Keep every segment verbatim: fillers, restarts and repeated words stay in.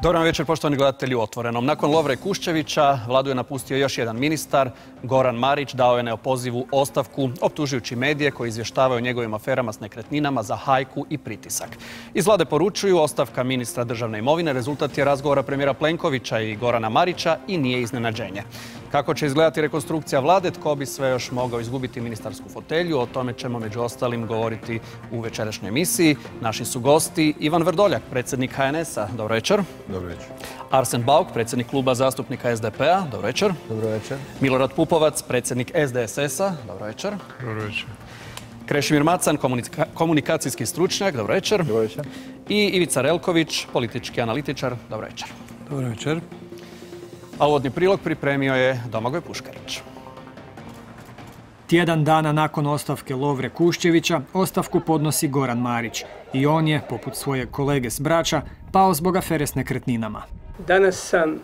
Dobar večer, poštovani gledatelji u Otvorenom. Nakon Lovre Kuščevića, vladu je napustio još jedan ministar. Goran Marić dao je neopozivu ostavku, optužujući medije koji izvještavaju o njegovim aferama s nekretninama za hajku i pritisak. Iz vlade poručuju ostavka ministra državne imovine rezultat je razgovora premijera Plenkovića i Gorana Marića i nije iznenađenje. Kako će izgledati rekonstrukcija vlade, tko bi sve još mogao izgubiti ministarsku fotelju, o tome ćemo među ostalim govoriti u večerašnjoj emisiji. Naši su gosti Ivan Vrdoljak, predsjednik H N S-a. Dobro večer. Dobro večer. Arsen Bauk, predsjednik kluba zastupnika S D P-a. Dobro večer. Dobro večer. Milorad Pupovac, predsjednik S D S S-a. Dobro večer. Dobro večer. Krešimir Macan, komunika komunikacijski stručnjak. Dobro večer. Dobro večer. I Ivica Relković, politički analitičar. Dobro večer. Dobro večer. A uvodni prilog pripremio je Domagoj Puškarić. Tjedan dana nakon ostavke Lovre Kuščevića, ostavku podnosi Goran Marić. I on je, poput svojeg kolege s Brača, pao zbog afere s nekretninama. Danas sam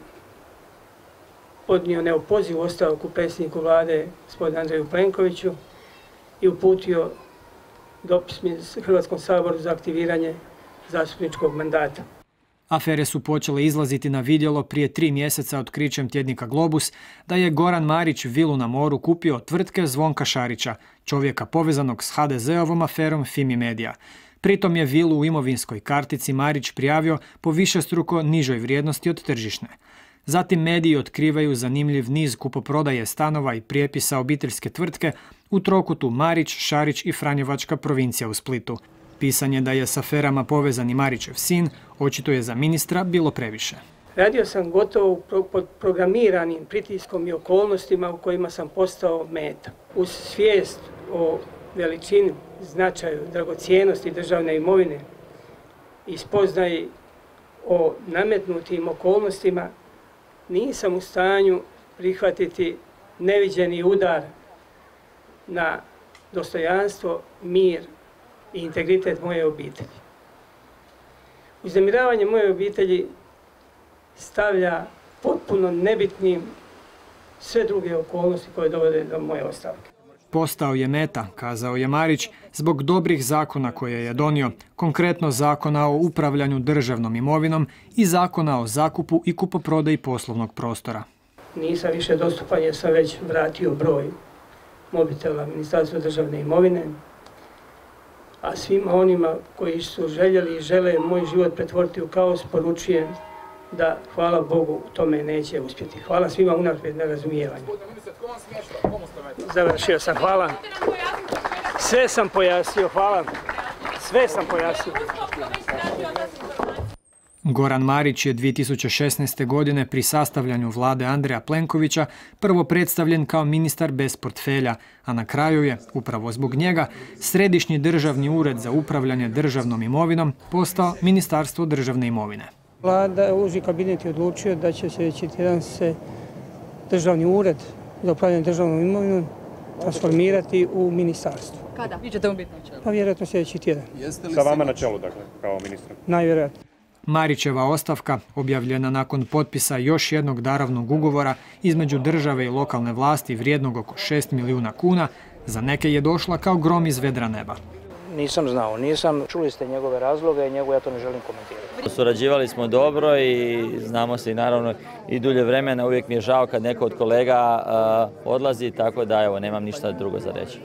podnio neopozivu ostavku predsjedniku vlade, gospodinu Andreju Plenkoviću, i uputio dopis Hrvatskom saboru za aktiviranje zastupničkog mandata. Afere su počele izlaziti na vidjelo prije tri mjeseca otkrićem tjednika Globus da je Goran Marić vilu na moru kupio od tvrtke Zvonka Šarića, čovjeka povezanog s H D Z-ovom aferom Fimi Media. Pritom je vilu u imovinskoj kartici Marić prijavio po višestruko nižoj vrijednosti od tržišne. Zatim mediji otkrivaju zanimljiv niz kupoprodaje stanova i prijepisa obiteljske tvrtke u trokutu Marić, Šarić i Franjevačka provincija u Splitu. Pisanje da je s aferama povezan i Marićev sin, očito je za ministra bilo previše. Radio sam gotovo pod programiranim pritiskom i okolnostima u kojima sam postao meta. Uz svijest o veličini, značaju, dragocijenosti državne imovine i spoznaji o nametnutim okolnostima, nisam u stanju prihvatiti neviđeni udar na dostojanstvo, mir i integritet moje obitelji. Uznemiravanje moje obitelji stavlja potpuno nebitnim sve druge okolnosti koje dovode do moje ostavke. Postao je meta, kazao je Marić, zbog dobrih zakona koje je donio, konkretno zakona o upravljanju državnom imovinom i zakona o zakupu i kupoprodaji poslovnog prostora. Nisam više dostupan jer sam već vratio broj mobitela Ministarstva državne imovine, a svima onima koji su željeli i žele moj život pretvoriti u kaos, poručujem da, hvala Bogu, tome neće uspjeti. Hvala svima unaprijed na razumijevanju. Završio sam, hvala. Sve sam pojasnio, hvala. Sve sam pojasnio. Goran Marić je dvije tisuće šesnaeste. godine pri sastavljanju vlade Andreja Plenkovića prvo predstavljen kao ministar bez portfelja, a na kraju je, upravo zbog njega, Središnji državni ured za upravljanje državnom imovinom postao Ministarstvo državne imovine. Vlada, uži kabinet je odlučio da će sljedeći tjedan se državni ured za upravljanje državnom imovinom transformirati u ministarstvo. Kada? Vi ćete mu biti na čelu? Pa vjerojatno sljedeći tjedan. Sa vama na čelu, dakle, kao ministra? Najvjerojatno. Marićeva ostavka, objavljena nakon potpisa još jednog darovnog ugovora između države i lokalne vlasti vrijednog oko šest milijuna kuna, za neke je došla kao grom iz vedra neba. Nisam znao, nisam. Čuli ste njegove razloge i njegove ja to ne želim komentirati. Surađivali smo dobro i znamo se i naravno i dulje vremena. Uvijek mi je žao kad neko od kolega uh, odlazi, tako da evo, nemam ništa drugo za reći.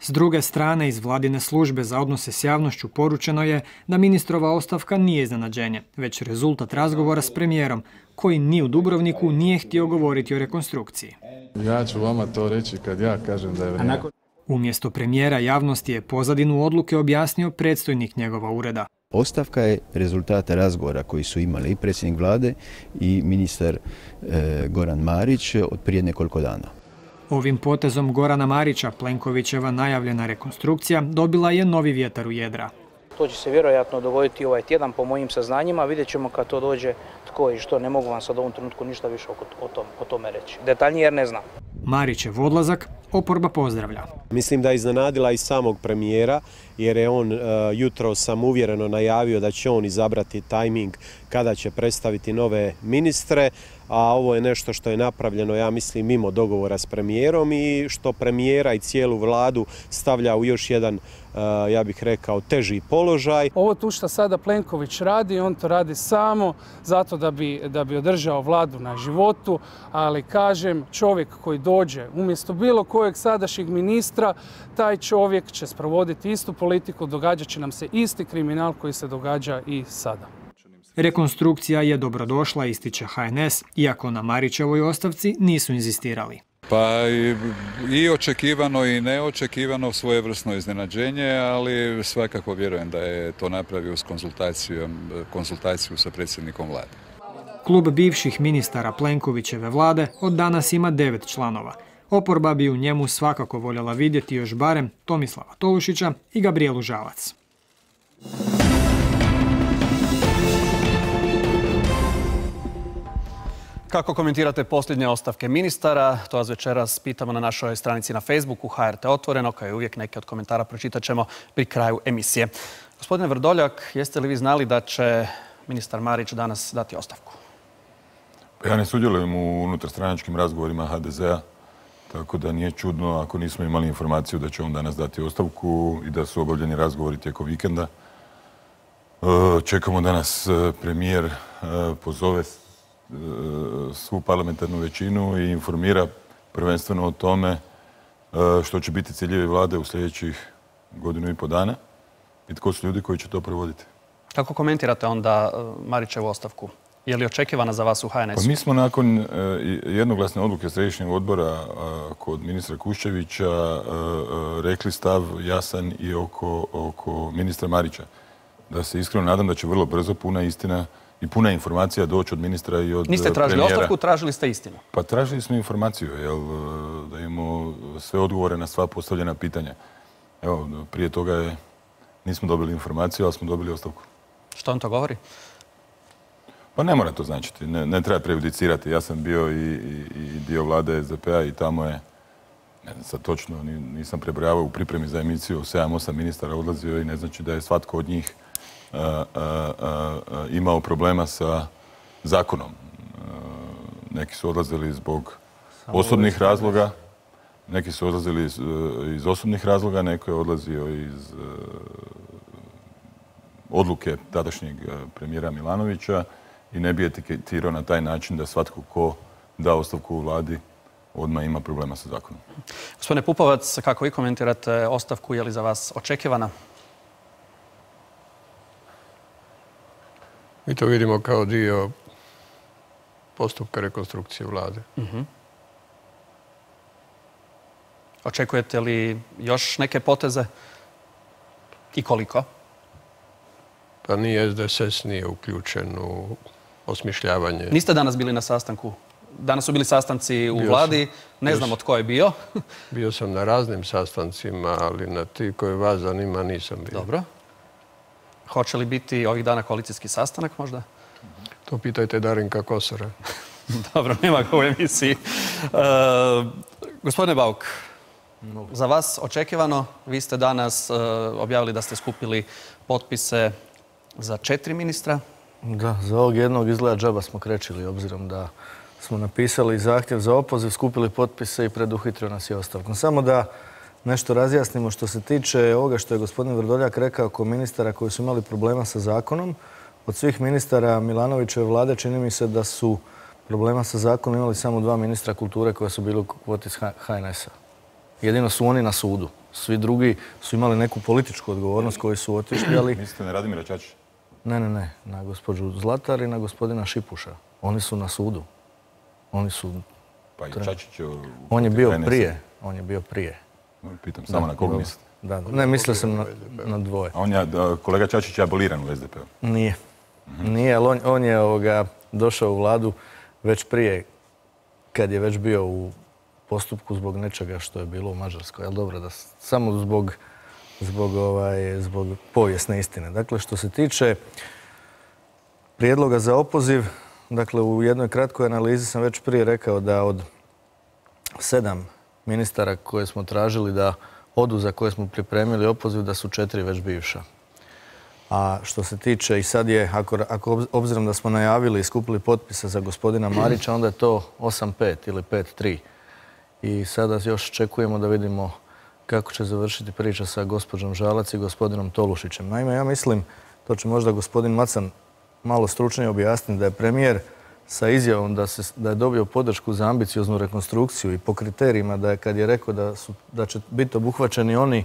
S druge strane, iz vladine službe za odnose s javnošću poručeno je da ministrova ostavka nije iznenađenje, već rezultat razgovora s premijerom, koji ni u Dubrovniku nije htio govoriti o rekonstrukciji. Ja ću vama to reći kad ja kažem da je vrijeme. Umjesto premijera javnosti je pozadinu odluke objasnio predstojnik njegova ureda. Ostavka je rezultat razgovora koji su imali i predsjednik vlade i ministar e, Goran Marić od prije nekoliko dana. Ovim potezom Gorana Marića Plenkovićeva najavljena rekonstrukcija dobila je novi vjetar u jedra. To će se vjerojatno dogoditi ovaj tjedan po mojim saznanjima. Vidjet ćemo kad to dođe tko i što. Ne mogu vam sad u ovom trenutku ništa više o, tom, o tome reći. Detaljnije jer ne znam. Marićev odlazak oporba pozdravlja. Mislim da je iznenadila i samog premijera jer je on jutro sam uvjereno najavio da će on izabrati tajming kada će predstaviti nove ministre, a ovo je nešto što je napravljeno, ja mislim, mimo dogovora s premijerom i što premijera i cijelu vladu stavlja u još jedan, ja bih rekao, teži položaj. Ovo tu što sada Plenković radi, on to radi samo zato da bi, da bi održao vladu na životu, ali kažem, čovjek koji dođe umjesto bilo kojeg sadašnjeg ministra, taj čovjek će sprovoditi istu politiku, događat će nam se isti kriminal koji se događa i sada. Rekonstrukcija je dobrodošla, ističe H N S, iako na Marićevoj ostavci nisu inzistirali. Pa i, i očekivano i neočekivano svojevrsno iznenađenje, ali svakako vjerujem da je to napravio s konzultacijom, konzultaciju sa predsjednikom vlade. Klub bivših ministara Plenkovićeve vlade od danas ima devet članova. Oporba bi u njemu svakako voljela vidjeti još barem Tomislava Tolušića i Gabrijelu Žalac. Kako komentirate posljednje ostavke ministara? To vas večeras pitamo na našoj stranici na Facebooku H R T Otvoreno, kao i uvijek neke od komentara pročitat ćemo pri kraju emisije. Gospodine Vrdoljak, jeste li vi znali da će ministar Marić danas dati ostavku? Ja ne sudjelujem u unutarstranačkim razgovorima H D Z-a, tako da nije čudno ako nismo imali informaciju da će on danas dati ostavku i da su obavljeni razgovori tijekom vikenda. Čekamo da nas premijer pozove svu parlamentarnu većinu i informira prvenstveno o tome što će biti ciljevi vlade u sljedećih godinu i po dana i tko su ljudi koji će to provoditi. Kako komentirate onda Marićevu ostavku? Je li očekivana za vas u H N S-u? Pa mi smo nakon jednoglasne odluke Središnjeg odbora kod ministra Kuščevića rekli stav jasan i oko, oko ministra Marića. Da se iskreno nadam da će vrlo brzo puna istina i puna informacija doći od ministra i od premijera. Niste tražili ostavku, tražili ste istinu? Pa tražili smo informaciju, jel, da imamo sve odgovore na sva postavljena pitanja. Evo, prije toga je, nismo dobili informaciju, ali smo dobili ostavku. Što on to govori? Pa ne mora to značiti, ne, ne treba prejudicirati. Ja sam bio i, i, i dio vlade S D P-a i tamo je, ne znam sad točno, nisam prebrojavao u pripremi za emisiju, sedam osam ministara odlazio i ne znači da je svatko od njih Uh, uh, uh, imao problema sa zakonom. Uh, neki su odlazili zbog osobnih razloga, neki su odlazili iz, uh, iz osobnih razloga, neko je odlazio iz uh, odluke tadašnjeg premijera Milanovića i ne bi etiketirao na taj način da svatko ko da ostavku u vladi odmah ima problema sa zakonom. Gospodine Pupovac, kako vi komentirate ostavku, je li za vas očekivana? Mi to vidimo kao dio postupka rekonstrukcije vlade. Uh-huh. Očekujete li još neke poteze i koliko? Pa ni S D S S nije uključen u osmišljavanje. Niste danas bili na sastanku? Danas su bili sastanci u bio vladi, sam, ne znamo tko je bio. Bio sam na raznim sastancima, ali na ti koje vas zanima nisam bio. Dobro. Hoće li biti ovih dana koalicijski sastanak možda? To pitajte Darinka Kosora. Dobro, nema ga u emisiji. E, gospodine Bauk, za vas očekivano, vi ste danas e, objavili da ste skupili potpise za četiri ministra. Da, za ovog jednog izgleda džaba smo krečili, obzirom da smo napisali zahtjev za opoziv, skupili potpise i preduhitrio nas je ostavkom. Samo da nešto razjasnimo što se tiče ovoga što je gospodin Vrdoljak rekao oko ministara koji su imali problema sa zakonom. Od svih ministara Milanovićeve vlade čini mi se da su problema sa zakonom imali samo dva ministra kulture koja su bili u kvoti iz H N S-a. Jedino su oni na sudu. Svi drugi su imali neku političku odgovornost koji su otišli, ali... Mislite na Radimira Čačića? Ne, ne, ne. Na gospođu Zlatar i na gospodina Šipuša. Oni su na sudu. Oni su... Pa i Čačić je... On je bio prije. On je bio prije. Pitam samo na koga mislite? Da, ne, mislio sam na, na dvoje. A on je, kolega Čačić je aboliran u S D P-u? Nije. Mm-hmm. Nije, ali on, on je ovoga, došao u vladu već prije, kad je već bio u postupku zbog nečega što je bilo u Mađarskoj. Ali dobro, da samo zbog, zbog, ovaj, zbog povijesne istine. Dakle, što se tiče prijedloga za opoziv, dakle, u jednoj kratkoj analizi sam već prije rekao da od sedam ministara koje smo tražili da odu za koje smo pripremili opoziv da su četiri već bivša. A što se tiče, i sad je, ako, ako obzirom da smo najavili i skupili potpise za gospodina Marića, onda je to osam pet ili pet tri. I sada još čekujemo da vidimo kako će završiti priča sa gospođom Žalac i gospodinom Tolušićem. Naime, ja mislim, to će možda gospodin Macan malo stručnije objasniti, da je premijer sa izjavom da, se, da je dobio podršku za ambicioznu rekonstrukciju i po kriterijima da je, kad je rekao da, su, da će biti obuhvaćeni oni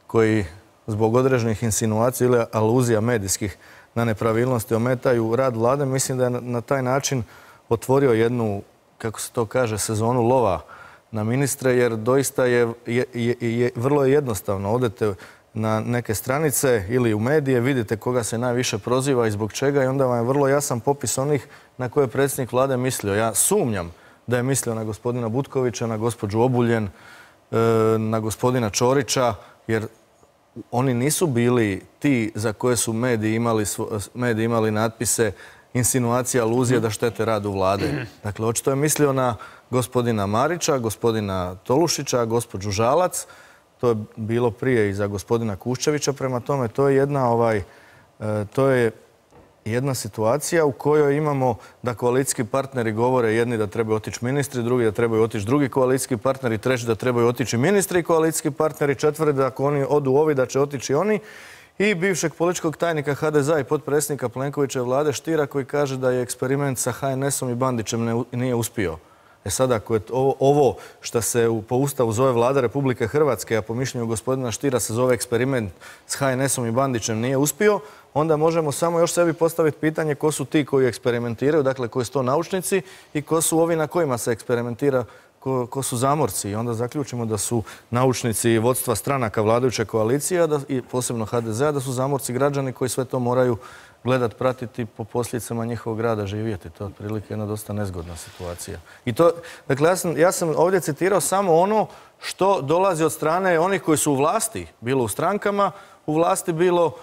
koji zbog određenih insinuacija ili aluzija medijskih na nepravilnosti ometaju rad vlade, mislim da je na, na taj način otvorio jednu, kako se to kaže, sezonu lova na ministre, jer doista je, je, je, je vrlo je jednostavno. Odete na neke stranice ili u medije, vidite koga se najviše proziva i zbog čega i onda vam je vrlo jasan popis onih na koje je predsjednik vlade mislio. Ja sumnjam da je mislio na gospodina Butkovića, na gospođu Obuljen, na gospodina Ćorića, jer oni nisu bili ti za koje su mediji imali, mediji imali natpise, insinuacija, aluzije da štete radu vlade. Dakle, očito je mislio na gospodina Marića, gospodina Tolušića, gospođu Žalac. To je bilo prije i za gospodina Kuščevića. Prema tome, to je jedna, ovaj, to je jedna situacija u kojoj imamo da koalicijski partneri govore jedni da trebaju otići ministri, drugi da trebaju otići drugi koalicijski partneri, treći da trebaju otići ministri i koalicijski partneri, četvrti da ako oni odu ovi da će otići oni. I bivšeg političkog tajnika ha de zea i potpredsjednika Plenkovićeve vlade Štira koji kaže da je eksperiment sa ha en esom i Bandićem ne, nije uspio. E sad, ako je ovo, ovo što se u, po Ustavu zove Vlada Republike Hrvatske, a po mišljenju gospodina Štira se zove eksperiment s ha en esom i Bandićem nije uspio, onda možemo samo još sebi postaviti pitanje ko su ti koji eksperimentiraju, dakle koji su to naučnici i ko su ovi na kojima se eksperimentira, ko, ko su zamorci. I onda zaključimo da su naučnici vodstva stranaka vladajuće koalicije da, i posebno ha de zea, da su zamorci građani koji sve to moraju gledat, pratiti, po posljedicama njihovog rada živjeti. To je otprilike jedna dosta nezgodna situacija. I to, dakle, ja sam, ja sam ovdje citirao samo ono što dolazi od strane onih koji su u vlasti, bilo u strankama, u vlasti bilo,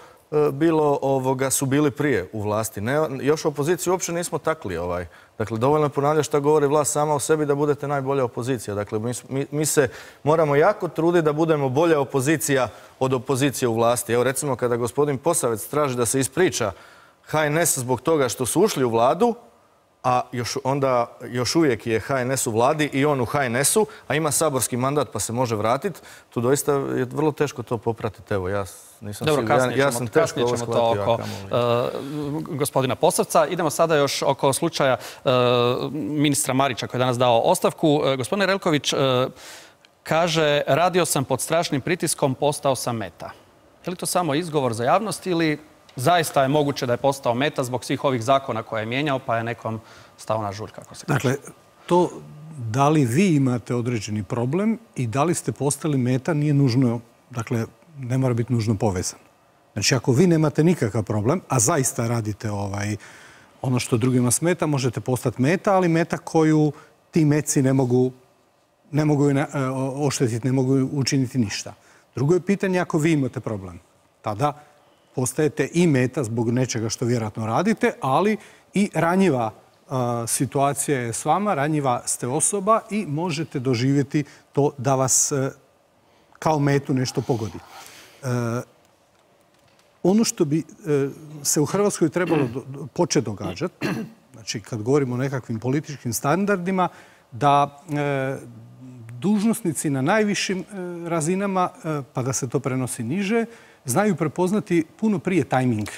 bilo ovoga, su bili prije u vlasti. Ne, još opoziciju uopće nismo takli. Ovaj. Dakle, dovoljno je ponavljati što govori vlast sama o sebi da budete najbolja opozicija. Dakle, mi, mi, mi se moramo jako truditi da budemo bolja opozicija od opozicije u vlasti. Evo, recimo, kada gospodin Posavec traži da se ispriča ha en es zbog toga što su ušli u vladu, a još, onda još uvijek je ha en es u vladi i on u ha en esu, a ima saborski mandat pa se može vratiti, tu doista je vrlo teško to popratiti. Evo, ja nisam Dobro, siguran. kasnije ja, ja ćemo, sam teško kasnije ćemo to oko uh, gospodina Posavca. Idemo sada još oko slučaja uh, ministra Marića koji je danas dao ostavku. Uh, gospodine Relković, uh, kaže, radio sam pod strašnim pritiskom, postao sam meta. Je li to samo izgovor za javnost ili zaista je moguće da je postao meta zbog svih ovih zakona koje je mijenjao, pa je nekom stao na žulj, kako se kaže? Dakle, to da li vi imate određeni problem i da li ste postali meta nije nužno, dakle, ne mora biti nužno povezano. Znači, ako vi nemate nikakav problem, a zaista radite ovaj, ono što drugima smeta, možete postati meta, ali meta koju ti meci ne mogu, ne mogu oštetiti, ne mogu učiniti ništa. Drugo je pitanje ako vi imate problem. Tada postajete i meta zbog nečega što vjerojatno radite, ali i ranjiva uh, situacija je s vama, ranjiva ste osoba i možete doživjeti to da vas uh, kao metu nešto pogodi. Uh, ono što bi uh, se u Hrvatskoj trebalo do, do, početi događati, znači kad govorimo o nekakvim političkim standardima, da uh, dužnosnici na najvišim uh, razinama, uh, pa da se to prenosi niže, znaju prepoznati puno prije tajming,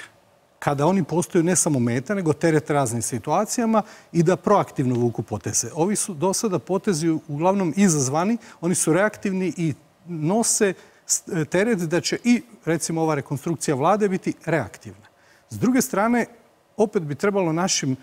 kada oni postaju ne samo meta, nego teret raznim situacijama i da proaktivno vuku poteze. Ovi su do sada potezi uglavnom izazvani, oni su reaktivni i nose teret da će i, recimo, ova rekonstrukcija vlade biti reaktivna. S druge strane, opet bi trebalo našim,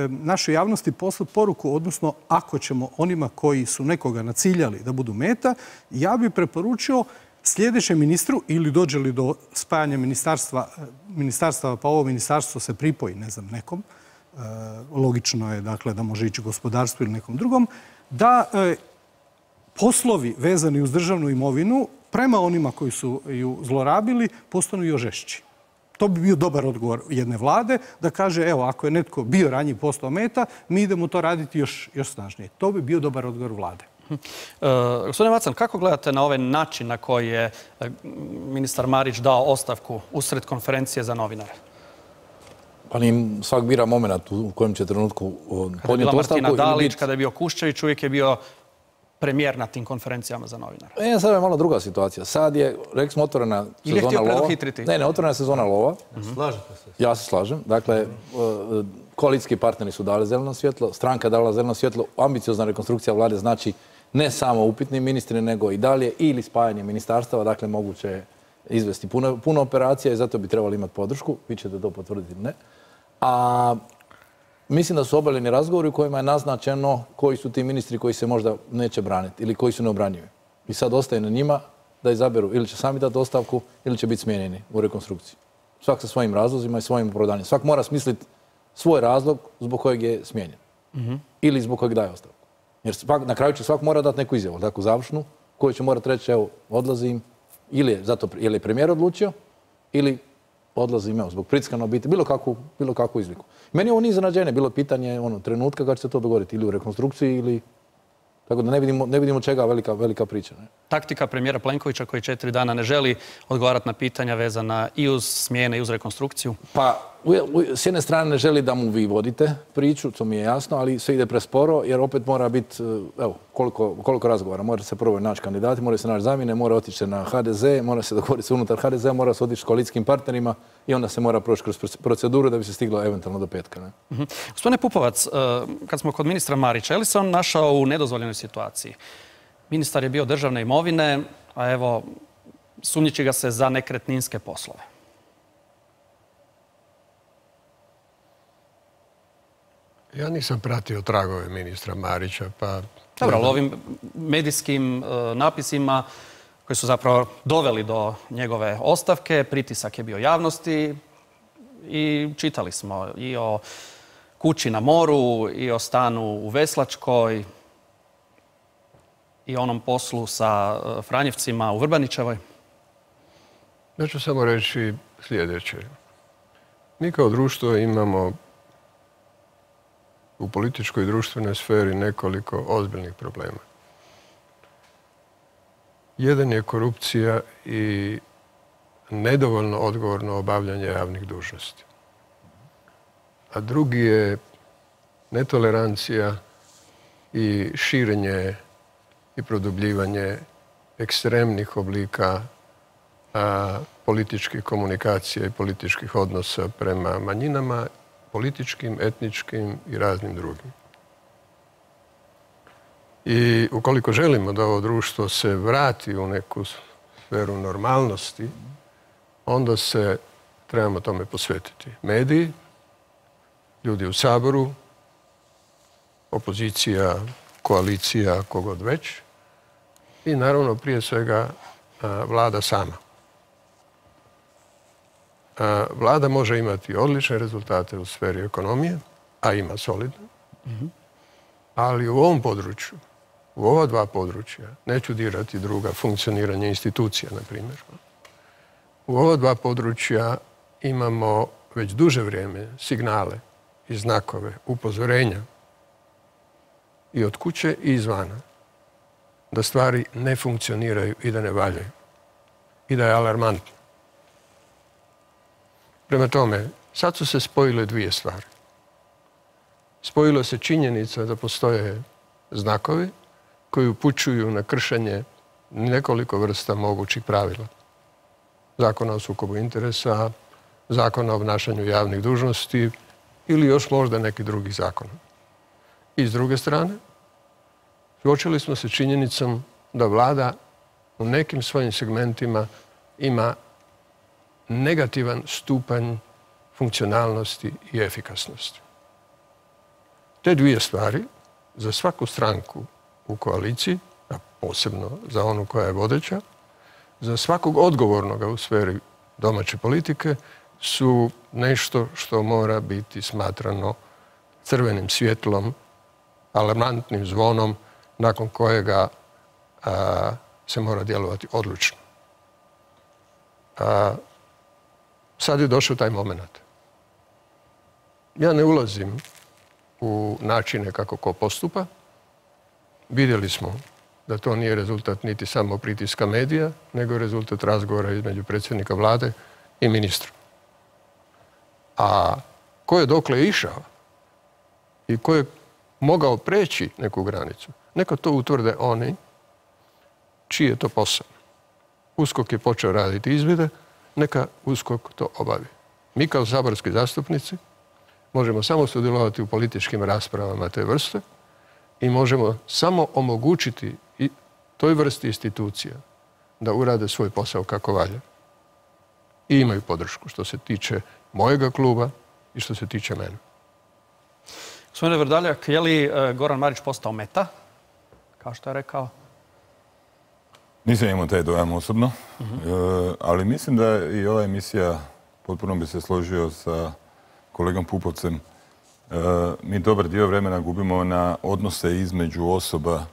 našoj javnosti poslati poruku, odnosno ako ćemo onima koji su nekoga naciljali da budu meta, ja bih preporučio sljedećem ministru ili dođe li do spajanja ministarstva, ministarstva pa ovo ministarstvo se pripoji, ne znam, nekom, e, logično je dakle da može ići gospodarstvu ili nekom drugom, da e, poslovi vezani uz državnu imovinu prema onima koji su ju zlorabili postanu još žešći. To bi bio dobar odgovor jedne vlade da kaže, evo, ako je netko bio ranjiv postao meta, mi idemo to raditi još, još snažnije. To bi bio dobar odgovor vlade. Gospodine Macan, kako gledate na ovaj način na koji je ministar Marić dao ostavku usred konferencije za novinare? Pa ni svak bira moment u kojem će trenutku podnijeti ostavku. Kada je bila Martina Dalić, kada je bio Kuščević, uvijek je bio premijer na tim konferencijama za novinare. E, sad je malo druga situacija. Sad je, rekli smo, otvorena sezona lova. Ili je htio preduhitriti? Ne, ne, otvorena sezona lova. Slažete se? Ja se slažem. Dakle, koalicijski partneri su dali zeleno svjetlo, stranka je dala zeleno svjetlo, ambiciozna rekonstrukcija vlade znači ne samo upitni ministri, nego i dalje, ili spajanje ministarstava, dakle moguće je izvesti puno, puno operacija i zato bi trebali imati podršku, vi ćete to potvrditi, ne. A mislim da su obavljeni razgovori u kojima je naznačeno koji su ti ministri koji se možda neće braniti ili koji su neobranjivi. I sad ostaje na njima da izaberu ili će sami dati ostavku ili će biti smijenjeni u rekonstrukciji. Svak sa svojim razlozima i svojim opravdanjem. Svak mora smisliti svoj razlog zbog kojeg je smijenjen. Mm-hmm. Ili zbog kojeg daje ostavku. Jer svak, na kraju će svak mora dati neku izjavu, takvu završnu, koju će morati reći, evo, odlazim, ili je, zato, ili je premijer odlučio, ili odlazim, evo, zbog pritiska na obitelj, bilo kakvu, bilo kakvu izliku. Meni je ovo nije iznenađenje, bilo pitanje ono, trenutka kad će se to dogoditi, ili u rekonstrukciji, ili... Tako da ne vidimo, ne vidimo čega velika, velika priča. Ne? Taktika premijera Plenkovića koji četiri dana ne želi odgovarati na pitanja vezana i uz smjene i uz rekonstrukciju? Pa, u, u, s jedne strane ne želi da mu vi vodite priču, to mi je jasno, ali sve ide presporo jer opet mora biti, evo, koliko, koliko razgovara. Mora se prvo naći kandidati, mora se naći zamjene, mora otići na ha de ze, mora se dogovoriti se unutar ha de zea, mora se otići s koalicijskim partnerima i onda se mora proći kroz proceduru da bi se stiglo eventualno do petka. Ne? Uh-huh. Gospodine Pupovac, kad smo kod ministra Marića, je li se on našao u nedozvoljenoj situaciji? Ministar je bio državne imovine, a evo, sumnjiči ga se za nekretninske poslove. Ja nisam pratio tragove ministra Marića, pa... Dobro, ali ovim medijskim uh, napisima koji su zapravo doveli do njegove ostavke, pritisak je bio javnosti i čitali smo i o kući na moru, i o stanu u Veslačkoj, i onom poslu sa uh, Franjevcima u Vrbaničevoj. Ja ću samo reći sljedeće. Mi kao društvo imamo u političkoj i društvenoj sferi nekoliko ozbiljnih problema. Jedan je korupcija i nedovoljno odgovorno obavljanje javnih dužnosti. A drugi je netolerancija i širenje i produbljivanje ekstremnih oblika a, političkih komunikacija i političkih odnosa prema manjinama, političkim, etničkim i raznim drugim. I ukoliko želimo da ovo društvo se vrati u neku sferu normalnosti, onda se trebamo tome posvetiti. Mediji, ljudi u Saboru, opozicija, koalicija, kogod već, i naravno prije svega vlada sama. Vlada može imati odlične rezultate u sferi ekonomije, a ima solidno, mm-hmm. ali u ovom području, u ova dva područja, neću dirati druga, funkcioniranje institucija, na primjer. U ova dva područja imamo već duže vrijeme signale i znakove, upozorenja i od kuće i izvana, da stvari ne funkcioniraju i da ne valjaju i da je alarmantno. Prema tome, sad su se spojile dvije stvari. Spojilo se činjenica da postoje znakovi koji upućuju na kršenje nekoliko vrsta mogućih pravila. Zakona o sukobu interesa, zakona o obnašanju javnih dužnosti ili još možda neki drugi zakon. I s druge strane, suočili smo se činjenicom da vlada u nekim svojim segmentima ima negativan stupanj funkcionalnosti i efikasnosti. Te dvije stvari za svaku stranku u koaliciji, a posebno za onu koja je vodeća, za svakog odgovornoga u sferi domaće politike su nešto što mora biti smatrano crvenim svjetlom, alarmantnim zvonom nakon kojega a, se mora djelovati odlučno. A, sad je došao taj moment. Ja ne ulazim u načine kako ko postupa. Vidjeli smo da to nije rezultat niti samo pritiska medija, nego je rezultat razgovora između predsjednika vlade i ministra. A ko je dokle išao i ko je mogao preći neku granicu, neka to utvrde oni čiji je to posao. USKOK je počeo raditi izvide, neka USKOK to obavi. Mi kao saborski zastupnici možemo samo sudjelovati u političkim raspravama te vrste i možemo samo omogućiti i toj vrsti institucija da urade svoj posao kako valja. I imaju podršku što se tiče mojega kluba i što se tiče mene. Gospodine Vrdoljak, je li Goran Marić postao meta, kao što je rekao? Nisam imao taj dojam osobno, ali mislim da i ova emisija, potpuno bi se složio sa kolegom Pupovcem, mi dobar dio vremena gubimo na odnose između osoba.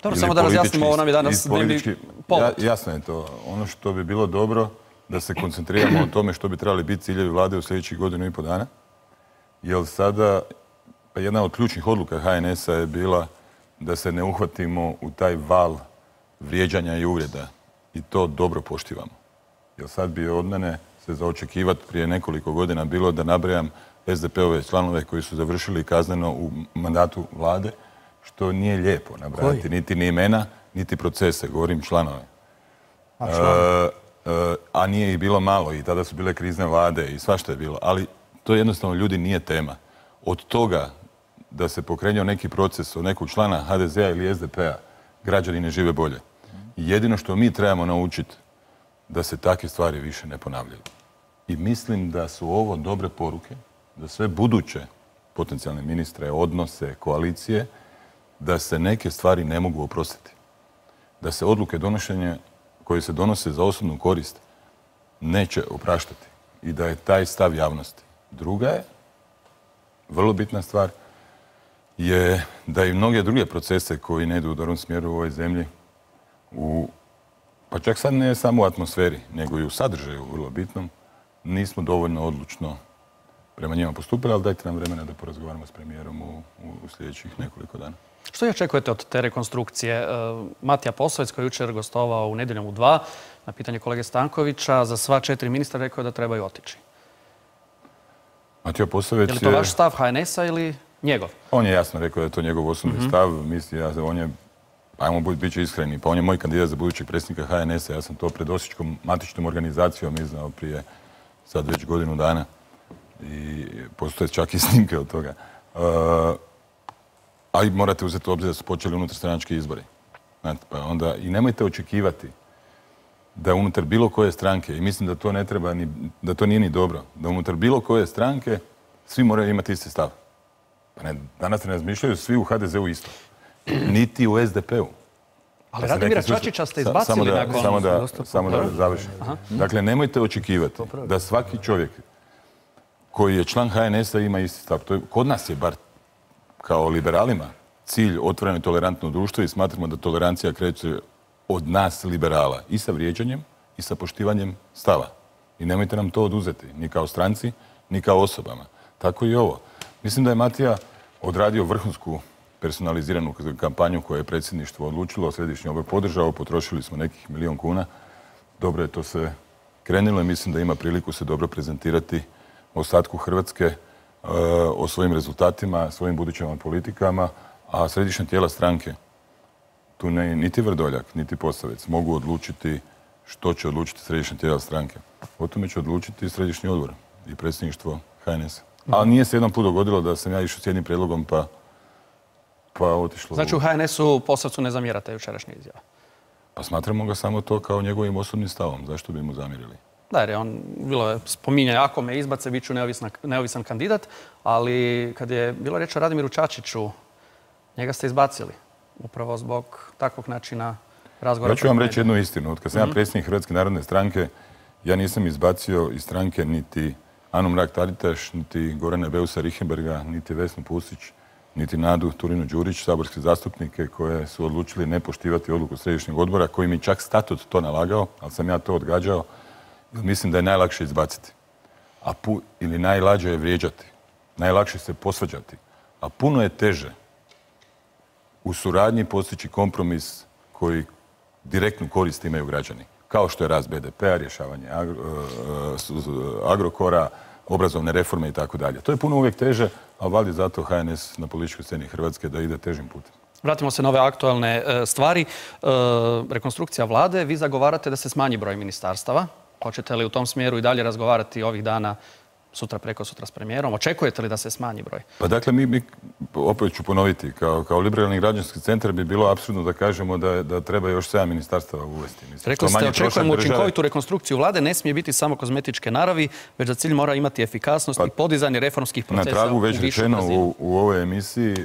Dobro, samo da razjasnimo, ovo nam je danas dnevni povod. Jasno je to. Ono što bi bilo dobro da se koncentriramo o tome što bi trebali biti ciljevi vlade u sljedećih godinu i pol dana. Jer sada, pa jedna od ključnih odluka H N S-a je bila da se ne uhvatimo u taj val vrijeđanja i uvreda. I to dobro poštivamo. Jer sad bi od mene se za očekivati prije nekoliko godina bilo da nabrajam S D P-ove članove koji su završili kazneno u mandatu vlade, što nije lijepo nabrajati. Niti ni imena, niti procese. Govorim članove. A, članove. E, a nije ih bilo malo i tada su bile krizne vlade i svašta je bilo. Ali to jednostavno, ljudi, nije tema. Od toga da se pokrenuo neki proces od nekog člana H D Z-a ili S D P-a, građani ne žive bolje. Jedino što mi trebamo naučiti da se takve stvari više ne ponavljaju. I mislim da su ovo dobre poruke za sve buduće potencijalne ministre, odnose, koalicije, da se neke stvari ne mogu oprostiti. Da se odluke donošenja koje se donose za osobnu korist neće opraštati. I da je taj stav javnosti. Druga je, vrlo bitna stvar, je da i mnoge druge procese koji ne idu u dobrom smjeru u ovoj zemlji, u, pa čak sad ne samo u atmosferi, nego i u sadržaju vrlo bitnom, nismo dovoljno odlučno prema njima postupili, ali dajte nam vremena da porazgovaramo s premijerom u, u sljedećih nekoliko dana. Što očekujete od te rekonstrukcije? Matija Posavec, koji je jučer gostovao u Nedjeljom u dva, na pitanje kolege Stankovića, za sva četiri ministra rekao je da trebaju otići. Matija Posavec je... Je li to vaš stav H N S-a ili njegov? On je jasno rekao da je to njegov osobni mm-hmm. stav. Mislim, ja, on je, ajmo biti iskreni, pa on je moj kandidat za budućeg predsjednika H N S-a. Ja sam to pred Osječkom matičnom organizacijom iznao prije sad već godinu dana. I postoje čak i snimke od toga. Uh, a i morate uzeti u obzir da su počeli unutarstranački izbori. Znate, pa onda i nemojte očekivati da unutar bilo koje stranke, i mislim da to ne treba ni, da to nije ni dobro, da unutar bilo koje stranke svi moraju imati isti stav. Pa ne, danas ne razmišljaju svi u H D Z-u isto. Niti u S D P-u. Ali Radimira Čačića ste izbacili samo da, nakon... Samo da, samo da završim. Dakle, nemojte očekivati da svaki čovjek koji je član H N S-a ima isti stav. To je, kod nas je bar kao liberalima cilj otvoreno i tolerantno društvo i smatramo da tolerancija kreće od nas liberala i sa vrijeđanjem i sa poštivanjem stava. I nemojte nam to oduzeti, ni kao stranci, ni kao osobama. Tako i ovo. Mislim da je Matija odradio vrhunsku personaliziranu kampanju koju je predsjedništvo odlučilo, središnji odbor podržao, potrošili smo nekih milijon kuna. Dobro je to se krenulo i mislim da ima priliku se dobro prezentirati ostatku Hrvatske o svojim rezultatima, svojim budućim politikama, a središnja tijela stranke, tu ne, niti Vrdoljak, niti Posavec, mogu odlučiti što će odlučiti središnja tijela stranke. O tome će odlučiti središnji odbor i predsjedništvo H N S-a. Ali nije se jedan put dogodilo da sam ja išao s jednim prijedlogom pa, pa otišlo... Znači u H N S-u Posavcu ne zamjerate jučerašnje izjave? Pa smatramo ga samo to kao njegovim osobnim stavom. Zašto bi mu zamjerili? Da, jer je on, bilo je spominjanje, ako me izbace, bit ću neovisan kandidat, ali kad je bilo riječ o Radimiru Čačiću, njega ste izbacili, upravo zbog takvog načina razgovora. Ja ću vam reći jednu istinu. Od kad sam ja predsjednik Hrvatske narodne stranke, ja nisam izbacio iz stranke niti Anu Mrak-Taritaš, niti Gorana Beusa Richembergha, niti Vesnu Pusić, niti Nadu Turinu-Đurić, saborske zastupnike koje su odlučili ne poštivati odluku središnjeg odbora, koji mi čak statut to nalagao, ali sam ja to odgađao. Mislim da je najlakše izbaciti. A pu, ili najlađe je vrijeđati. Najlakše se posvađati. A puno je teže u suradnji postići kompromis koji direktnu korist imaju građani. Kao što je rast be de pe-a, rješavanje Agrokora, obrazovne reforme i tako dalje. To je puno uvijek teže, a vali zato ha en es na političkoj sceni Hrvatske da ide težim putem. Vratimo se na ove aktualne stvari. Rekonstrukcija vlade, vi zagovarate da se smanji broj ministarstava. Hoćete li u tom smjeru i dalje razgovarati ovih dana, sutra, preko sutra s premijerom? Očekujete li da se smanji broj? Pa dakle, mi, mi opet ću ponoviti, kao, kao liberalni građanski centar bi bilo apsurdno da kažemo da, da treba još sedam ministarstava uvesti. Mislim, rekli ste, očekujemo učinkovitu rekonstrukciju vlade, ne smije biti samo kozmetičke naravi, već za cilj mora imati efikasnost pa, i podizanje reformskih procesa. Na tragu već rečeno u, u ovoj emisiji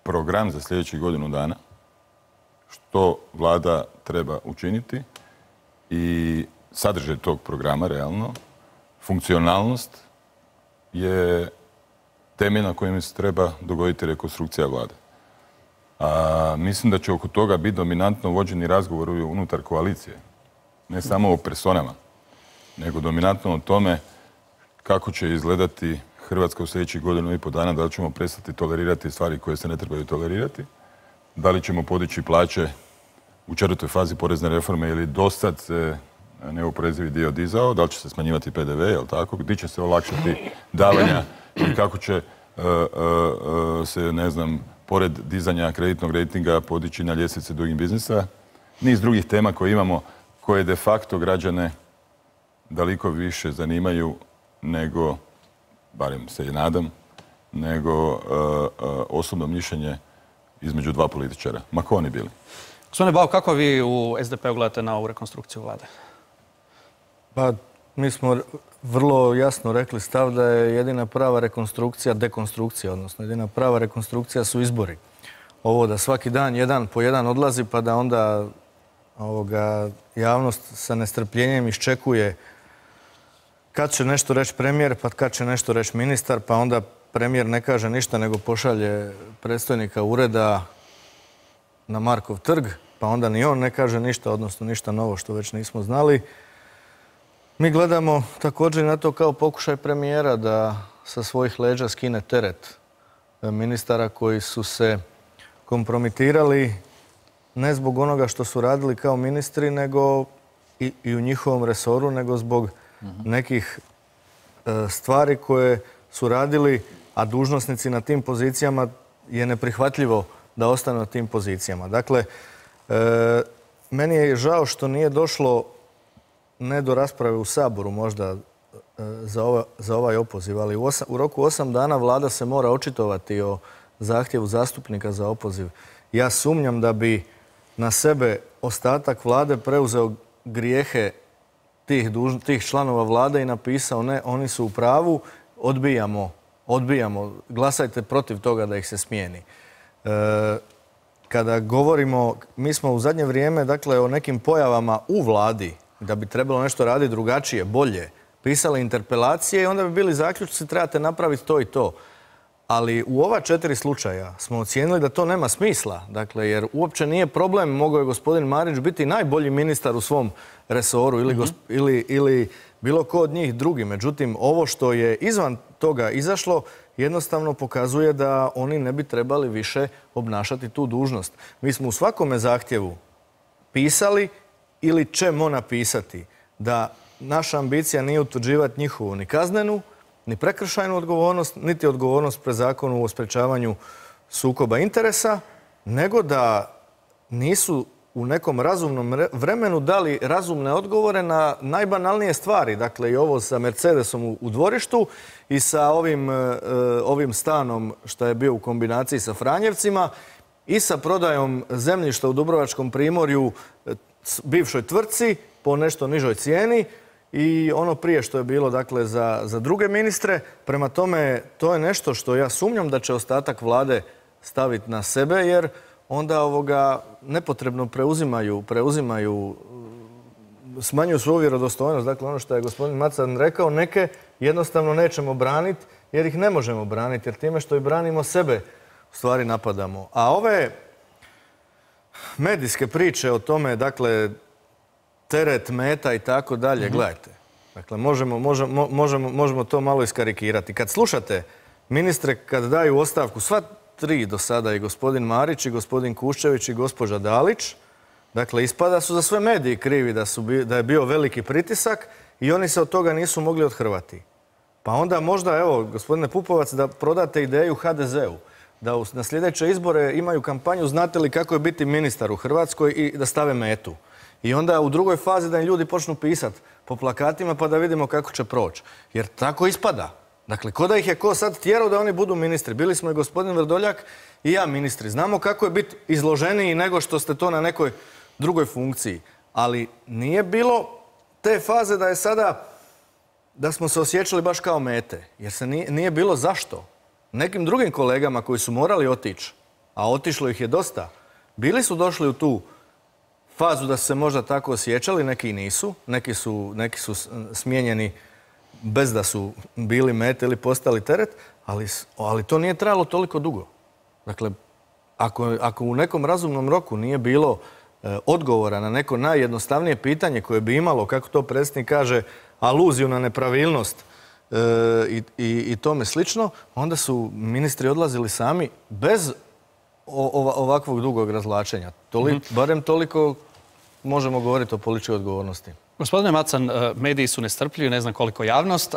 program za sljedećih godinu dana, što vlada treba učiniti i sadržaj tog programa, realno, funkcionalnost je temelj na kojem se treba dogoditi rekonstrukcija vlade. A, mislim da će oko toga biti dominantno vođeni razgovor unutar koalicije. Ne samo o personama, nego dominantno o tome kako će izgledati Hrvatska u sljedećih godinu i po dana, da li ćemo prestati tolerirati stvari koje se ne trebaju tolerirati, da li ćemo podići plaće u četvrtoj fazi porezne reforme ili dosad se neoporezivi dio dizao, da li će se smanjivati pe de ve, jel tako, gdje će se olakšati davanja i kako će uh, uh, se, ne znam, pored dizanja kreditnog rejtinga podići na ljestvice Doing Businessa. Niz drugih tema koje imamo, koje de facto građane daleko više zanimaju nego, barem se i nadam, nego uh, uh, osobno mišljenje između dva političara, ma ko oni bili. Gospodine Bauk, kako vi u es de pe-u gledate na ovu rekonstrukciju vlade? Pa, mi smo vrlo jasno rekli stav da je jedina prava rekonstrukcija dekonstrukcija, odnosno jedina prava rekonstrukcija su izbori. Ovo da svaki dan jedan po jedan odlazi pa da onda ovoga, javnost sa nestrpljenjem iščekuje kad će nešto reći premijer, pa kad će nešto reći ministar, pa onda premijer ne kaže ništa nego pošalje predstojnika ureda na Markov trg, pa onda ni on ne kaže ništa, odnosno ništa novo što već nismo znali. Mi gledamo također na to kao pokušaj premijera da sa svojih leđa skine teret ministara koji su se kompromitirali ne zbog onoga što su radili kao ministri, nego i, i u njihovom resoru, nego zbog nekih e, stvari koje su radili, a dužnosnici na tim pozicijama je neprihvatljivo da ostanu na tim pozicijama. Dakle, e, meni je žao što nije došlo ne do rasprave u Saboru možda e, za, ova, za ovaj opoziv, ali u, osam, u roku osam dana vlada se mora očitovati o zahtjevu zastupnika za opoziv. Ja sumnjam da bi na sebe ostatak vlade preuzeo grijehe tih, duž, tih članova vlade i napisao ne, oni su u pravu, odbijamo, odbijamo, glasajte protiv toga da ih se smijeni. E, kada govorimo, mi smo u zadnje vrijeme, dakle, o nekim pojavama u vladi, da bi trebalo nešto raditi drugačije, bolje, pisali interpelacije i onda bi bili zaključci, trebate napraviti to i to. Ali u ova četiri slučaja smo ocijenili da to nema smisla, dakle, jer uopće nije problem, mogao je gospodin Marić biti najbolji ministar u svom resoru ili, mm-hmm. ili, ili bilo ko od njih drugi. Međutim, ovo što je izvan toga izašlo jednostavno pokazuje da oni ne bi trebali više obnašati tu dužnost. Mi smo u svakome zahtjevu pisali ili ćemo napisati da naša ambicija nije utvrđivati njihovu ni kaznenu, ni prekršajnu odgovornost, niti odgovornost pred zakonu o sprečavanju sukoba interesa, nego da nisu u nekom razumnom vremenu dali razumne odgovore na najbanalnije stvari. Dakle, i ovo sa Mercedesom u dvorištu i sa ovim, ovim stanom što je bio u kombinaciji sa Franjevcima i sa prodajom zemljišta u Dubrovačkom primorju bivšoj tvrtci po nešto nižoj cijeni i ono prije što je bilo, dakle, za, za druge ministre. Prema tome, to je nešto što ja sumnjam da će ostatak vlade staviti na sebe, jer onda ovoga nepotrebno preuzimaju, preuzimaju, smanjuju svoju vjerodostojnost. Dakle, ono što je gospodin Macan rekao, neke jednostavno nećemo braniti jer ih ne možemo braniti, jer time što i branimo sebe u stvari napadamo. A ove medijske priče o tome, dakle, teret, meta i tako dalje, gledajte. Dakle, možemo, možemo, možemo, možemo to malo iskarikirati. Kad slušate ministre kad daju ostavku, sva tri do sada, i gospodin Marić, i gospodin Kuščević, i gospođa Dalić. Dakle, ispada su za sve mediji krivi da, su, da je bio veliki pritisak i oni se od toga nisu mogli othrvati. Pa onda možda, evo, gospodine Pupovac, da prodate ideju ha de zeu. Da na sljedeće izbore imaju kampanju znate li kako je biti ministar u Hrvatskoj i da stave metu. I onda u drugoj fazi da im ljudi počnu pisati po plakatima pa da vidimo kako će proći. Jer tako ispada. Dakle, ko da ih je ko sad tjerao da oni budu ministri. Bili smo i gospodin Vrdoljak i ja ministri. Znamo kako je biti izloženiji nego što ste to na nekoj drugoj funkciji. Ali nije bilo te faze da je sada, da smo se osjećali baš kao mete. Jer se nije, nije bilo zašto. Nekim drugim kolegama koji su morali otići, a otišlo ih je dosta, bili su došli u tu fazu da su se možda tako osjećali, neki nisu, neki su, neki su smijenjeni bez da su bili mete ili postali teret, ali, ali to nije trajalo toliko dugo. Dakle, ako, ako u nekom razumnom roku nije bilo e, odgovora na neko najjednostavnije pitanje koje bi imalo, kako to predsjednik kaže, aluziju na nepravilnost e, i, i, i tome slično, onda su ministri odlazili sami bez o, ovakvog dugog razvlačenja. Toli, mm-hmm. Barem toliko možemo govoriti o političkoj odgovornosti. Gospodine Macan, mediji su nestrpljivi, ne znam koliko javnost.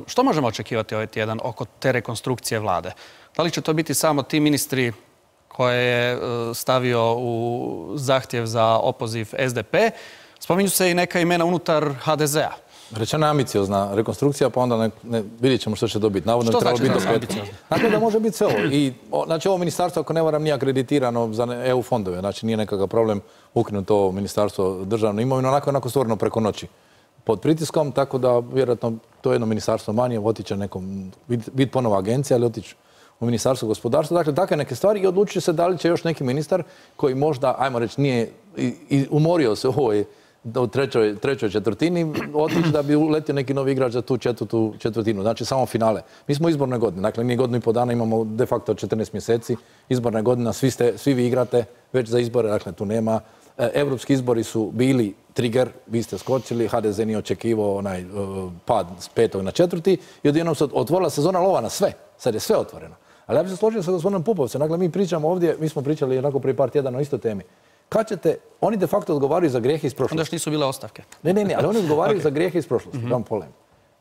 Što možemo očekivati ovaj tjedan oko te rekonstrukcije vlade? Da li će to biti samo ti ministri koje je stavio u zahtjev za opoziv es de pe? Spominju se i neka imena unutar ha de zea. Rečena je ambiciozna rekonstrukcija, pa onda ne, ne, vidjet ćemo što će dobiti. Navodno što znači biti da ambiciozna? Znači da može biti sve ovo. I, o, znači ovo ministarstvo, ako ne varam, nije akreditirano za e u fondove. Znači nije nekakav problem ukinuti ovo ministarstvo državne imovine, onako onako stvoreno preko noći pod pritiskom, tako da vjerojatno to je jedno ministarstvo manje, otiće nekom, biti ponovo agencija, ali otići u ministarstvo gospodarstva. Dakle, takve neke stvari i odlučit se da li će još neki ministar koji možda, ajmo reći, nije i, i umorio se u ovoj u trećoj, trećoj četvrtini otići da bi uletio neki novi igrač za tu četvrtu četvrtinu. Znači samo finale. Mi smo u izborne godine. Dakle, mi godinu i po dana imamo de facto četrnaest mjeseci. Izborna godina, svi, ste, svi vi igrate već za izbore. Dakle, tu nema. Europski izbori su bili trigger, vi ste skočili, ha de ze nije očekivao onaj uh, pad s petog na četvrti i odjednom se otvorila sezona lova na sve. Sad je sve otvoreno. Ali ja bih se složio sa gospodinom Pupovcem. Dakle, mi pričamo ovdje, mi smo pričali onako prije par tjedana o istoj temi. Kad ćete, oni de facto odgovaraju za grijehe iz prošlosti. Onda još nisu bile ostavke. Ne, ne, ne, ali oni odgovaraju okay. za grijehe iz prošlosti. Mm-hmm. Polem.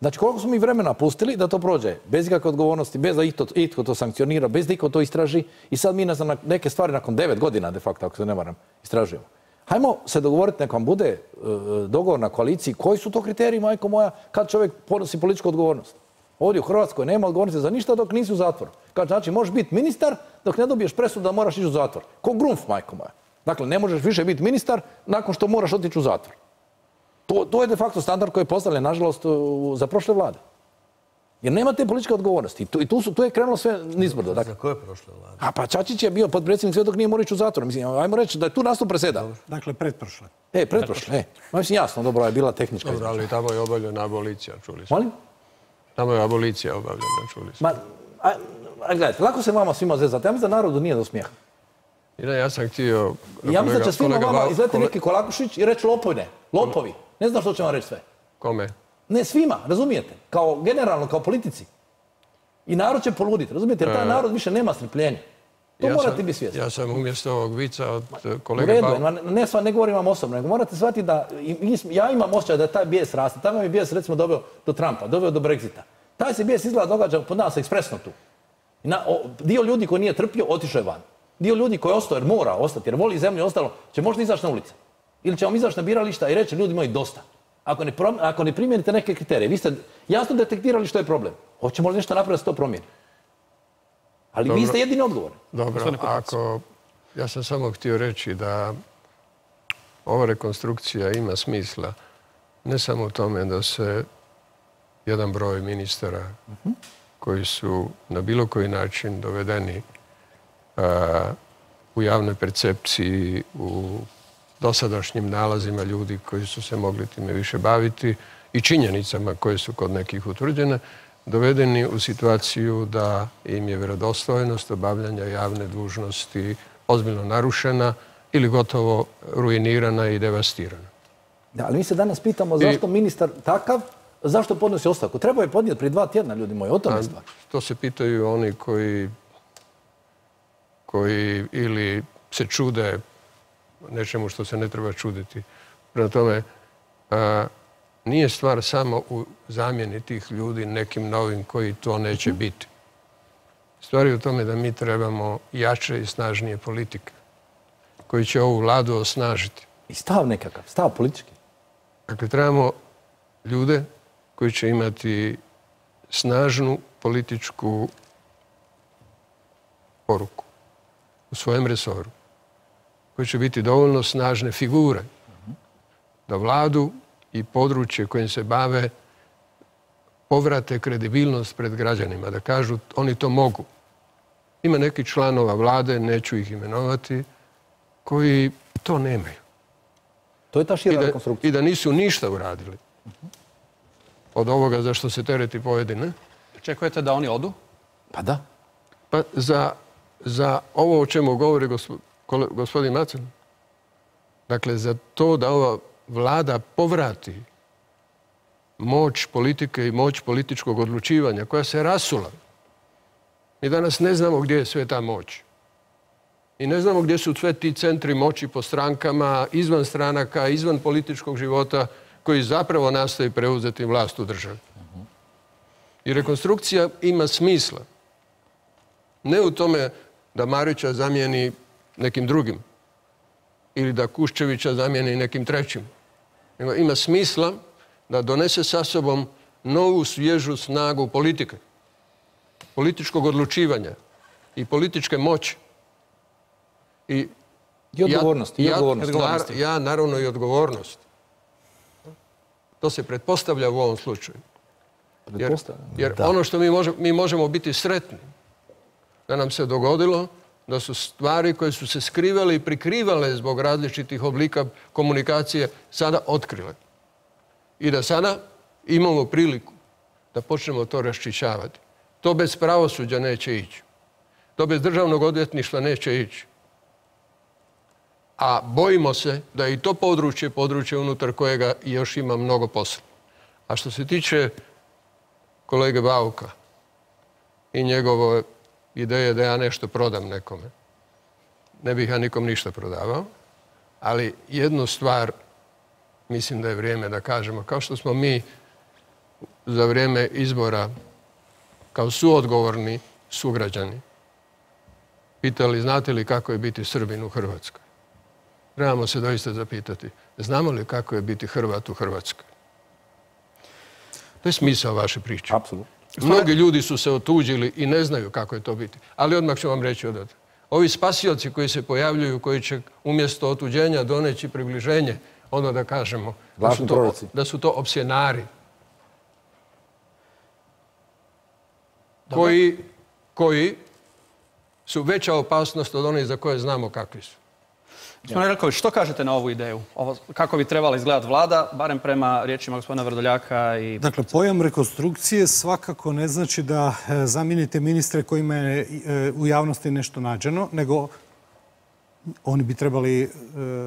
Znači, koliko smo mi vremena pustili da to prođe bez ikakve odgovornosti, bez da itko, itko to sankcionira, bez da itko to istraži i sad mi ne znam, neke stvari nakon devet godina, de facto, ako se ne varam, istražujemo. Hajmo se dogovoriti, nek vam bude uh, dogovor na koaliciji, koji su to kriteriji, majko moja, kad čovjek ponosi političku odgovornost. Ovdje u Hrvatskoj nema odgovornosti za ništa dok nisi u zatvoru. Kad znači, možeš biti ministar dok ne dobiješ presudu da moraš ići u zatvor. Ko grunf, majko moja. Dakle, ne možeš više biti ministar nakon što moraš otići u zatvor. To, to je de facto standard koji je postavljen, nažalost, za prošle vlade. Jer nema te političke odgovornosti. I tu, i tu, su, tu je krenulo sve nizbrdo. Dakle. Za koje prošle vlade? A pa Čačić je bio potpredsjednik sve dok nije morao ići u zatvor. Mislim, ajmo reći da je tu nastup preseda. Dakle, pretprošle. E, pretprošle. E. Mislim, jasno, dobro, je bila tehnička izbora. Ali tamo je obavljena abolicija, čuli smo. Molim? Tamo je abolicija obavljena, čuli smo. Ma, a, a gledajte, lako se vama svima zezati. Ja mislim da narodu nije do smijeha. I ne, ja sam htio... Ja mislim da će svima vama izleti neki Kolakušić i reći lopovine. Lopovi. Ne znam što će vam reći sve. Kome? Ne, svima, razumijete? Kao generalno, kao politici. I narod će poluditi, razumijete? Jer taj narod više nema strpljenja. To ja morate sam, biti svjesni. Ja sam umjesto ovog vica od kolege... U redu, ba... ne, ne govorim vam osobno, nego morate shvatiti da ja imam osjećaj da je taj bijes raste. Taj mi bijes, recimo, doveo do Trumpa, doveo do Brexita. Taj se bijes izgleda događa pod nas ekspresno tu. Na, o, dio ljudi koji nije trpio, otišao je van. Dio ljudi koji je ostao jer mora ostati, jer voli zemlju i ostalo, će možda izaći na ulice. Ili će vam izaći na birališta i reći ljudi moji dosta. Ako ne, prom, ako ne primijenite neke kriterije, vi ste jasno detektirali što je problem. Hoćemo li nešto napraviti da se to promijeni? Ali dobro, vi ste jedini odgovorni. Dobro, ako... Ja sam samo htio reći da ova rekonstrukcija ima smisla ne samo u tome da se jedan broj ministara uh-huh. koji su na bilo koji način dovedeni uh, u javnoj percepciji, u dosadašnjim nalazima ljudi koji su se mogli time više baviti i činjenicama koje su kod nekih utvrđene, dovedeni u situaciju da im je vjerodostojnost obavljanja javne dužnosti ozbiljno narušena ili gotovo ruinirana i devastirana. Da, ali mi se danas pitamo zašto I... ministar takav, zašto podnosi ostavku? Treba je podnijeti prije dva tjedna, ljudi moji, o tome stvar. To se pitaju oni koji koji ili se čude nečemu što se ne treba čuditi. Prema tome, a, nije stvar samo u zamjeni tih ljudi nekim novim koji to neće biti. Stvar je u tome da mi trebamo jače i snažnije politike koji će ovu vladu osnažiti. I stav nekakav, stav politički. Dakle, trebamo ljude koji će imati snažnu političku poruku u svojem resoru, koji će biti dovoljno snažne figure da vladu i područje kojim se bave povrate kredibilnost pred građanima, da kažu oni to mogu. Ima neki članova vlade, neću ih imenovati, koji to nemaju. To je ta šira I da, rekonstrukcija. I da nisu ništa uradili od ovoga za što se tereti pojedine. Čekujete da oni odu? Pa da. Pa za, za ovo o čemu govori gospo, kole, gospodin Macan, dakle za to da ova vlada povrati moć politike i moć političkog odlučivanja koja se rasula. Mi danas ne znamo gdje je sve ta moć. I ne znamo gdje su sve ti centri moći po strankama, izvan stranaka, izvan političkog života, koji zapravo nastoji preuzeti vlast u državi. I rekonstrukcija ima smisla. Ne u tome da Marića zamijeni nekim drugim ili da Kuščevića zamijeni nekim trećim. Nego ima smisla da donese sa sobom novu svježu snagu politike, političkog odlučivanja i političke moći. I, I odgovornosti. Ja, i odgovornosti. Ja, ja naravno i odgovornost. To se pretpostavlja u ovom slučaju. Jer, jer ono što mi, može, mi možemo biti sretni da nam se dogodilo da su stvari koje su se skrivale i prikrivale zbog različitih oblika komunikacije sada otkrile. I da sada imamo priliku da počnemo to raščišćavati. To bez pravosuđa neće ići. To bez državnog odvjetništva neće ići. A bojimo se da je i to područje, područje unutar kojega još ima mnogo posla. A što se tiče kolege Bauka i njegove ideje da ja nešto prodam nekome, ne bih ja nikom ništa prodavao, ali jednu stvar mislim da je vrijeme da kažemo, kao što smo mi za vrijeme izbora kao suodgovorni sugrađani pitali znate li kako je biti Srbin u Hrvatskoj. Trebamo se doista zapitati, znamo li kako je biti Hrvat u Hrvatskoj? To je smisao vaše priče. Apsolutno. Mnogi ljudi su se otuđili i ne znaju kako je to biti. Ali odmah ću vam reći odavde. Ovi spasioci koji se pojavljuju, koji će umjesto otuđenja doneći približenje, ono da kažemo da su, to, da su to opsjenari. Koji, koji su veća opasnost od onih za koje znamo kakvi su. Gospodine Relković, što kažete na ovu ideju? Ovo, kako bi trebala izgledati vlada, barem prema riječima gospodina Vrdoljaka? I... Dakle, pojam rekonstrukcije svakako ne znači da zamijenite ministre kojima je u javnosti nešto nađeno, nego oni bi trebali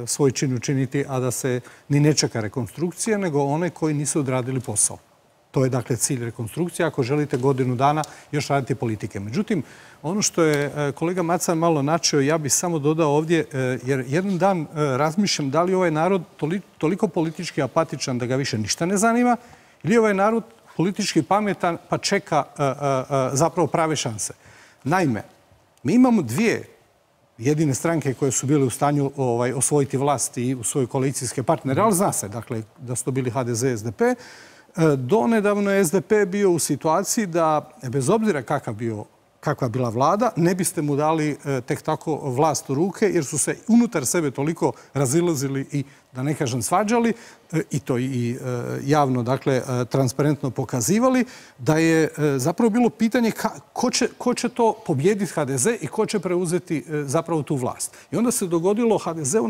svoj čin učiniti, a da se ni ne čeka rekonstrukcija, nego one koji nisu odradili posao. To je dakle cilj rekonstrukcije, ako želite godinu dana još raditi politike. Međutim, ono što je kolega Macan malo načeo, ja bih samo dodao ovdje, jer jedan dan razmišljam da li ovaj narod toliko politički apatičan da ga više ništa ne zanima, ili ovaj narod politički pametan pa čeka zapravo prave šanse. Naime, mi imamo dvije jedine stranke koje su bile u stanju ovaj, osvojiti vlast i u svoje koalicijske partnere, ali zna se, dakle, da su to bili H D Z, S D P. Donedavno je S D P bio u situaciji da, bez obzira kakav bio, kakva bila vlada, ne biste mu dali tek tako vlast u ruke, jer su se unutar sebe toliko razilazili i, da ne kažem, svađali, i to i javno, dakle, transparentno pokazivali, da je zapravo bilo pitanje ko će, ko će to pobijediti H D Z i ko će preuzeti zapravo tu vlast. I onda se dogodilo H D Z-u,